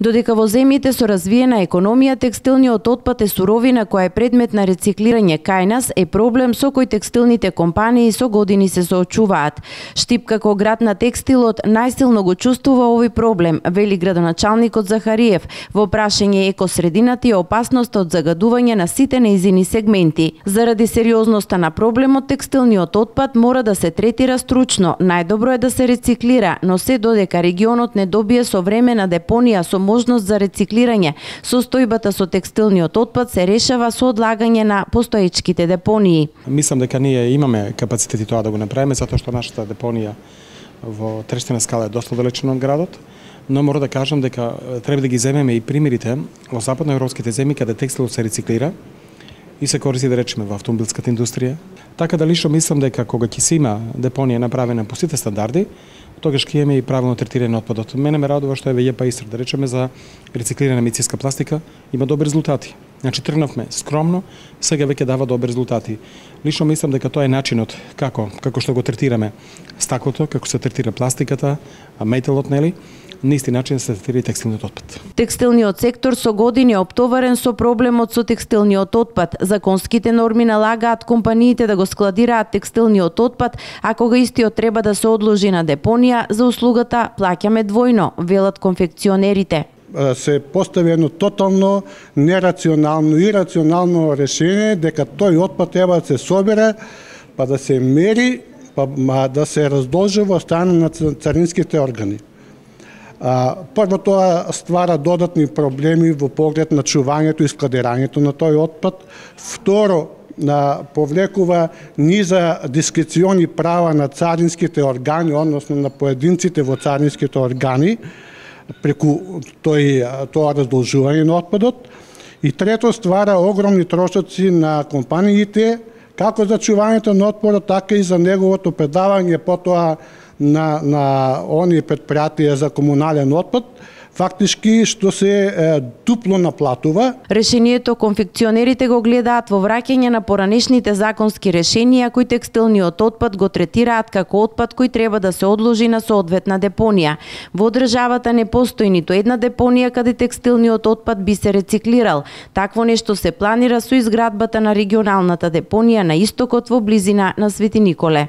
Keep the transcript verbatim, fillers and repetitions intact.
Додека во земјите со развиена економија текстилниот отпад е суровина која е предмет на рециклирање, кај нас е проблем со кој текстилните компании со години се соочуваат. Штип како град на текстилот најсилно го чувствува овој проблем, вели градоначалникот Захариев во прашање екосредината и опасноста од загадување на сите нејзини сегменти. Заради сериозноста на проблемот, текстилниот отпад мора да се третира стручно. Најдобро е да се рециклира, но се додека регионот не добие современа депонија со можност за рециклирање, состојбата со текстилниот отпад се решава со одлагање на постоечките депонии. Мислам дека ние имаме капацитети тоа да го направиме, затоа што нашата депонија во Трештина скала е доста далечна од градот, но мора да кажам дека треба да ги земеме и примерите во западноевропските земји каде текстилот се рециклира и се користи, да речеме, во автомобилската индустрија. Така да лично мислам дека кога ќе се има депонија направена по сите стандарди, тогаш ќе имаме и правилно третирање на отпадот. Мене ме радува што еве ЈПА Истра, да речеме, за рециклирана медицинска пластика има добри резултати. Значи тргнавме скромно, сега веќе дава добри резултати. Лично мислам дека тоа е начинот како како што го третираме стаклото, како се третира пластиката, металот, нели? На исти начин се третира и текстилниот отпад. Текстилниот сектор со години е оптоварен со проблемот со текстилниот отпад. Законските норми налагаат компаниите да го складираат текстилниот отпад, а кога истиот треба да се одложи на депонија, за услугата плаќаме двојно, велат конфекционерите. Се постави едно тотално нерационално и рационално решение дека тој отпад треба да се собере, па да се мери, па да се раздолжи во страна на царинските органи. Прво, тоа ствара додатни проблеми во поглед на чувањето и складирањето на тој отпад. Второ, повлекува низа дискрециони права на царинските органи, односно на поединците во царинските органи, преку тој, тоа раздолжување на отпадот. И трето, ствара огромни трошоци на компаниите, како за чувањето на отпадот, така и за неговото предавање потоа на, на оние предпријатија за комунален отпад, фактички што се е, дупло наплатува. Решението конфекционерите го гледаат во враќање на поранешните законски решенија кои текстилниот отпад го третираат како отпад кој треба да се одложи на соодветна депонија. Во државата не постои ниту една депонија каде текстилниот отпад би се рециклирал. Такво нешто се планира со изградбата на регионалната депонија на истокот во близина на Свети Николе.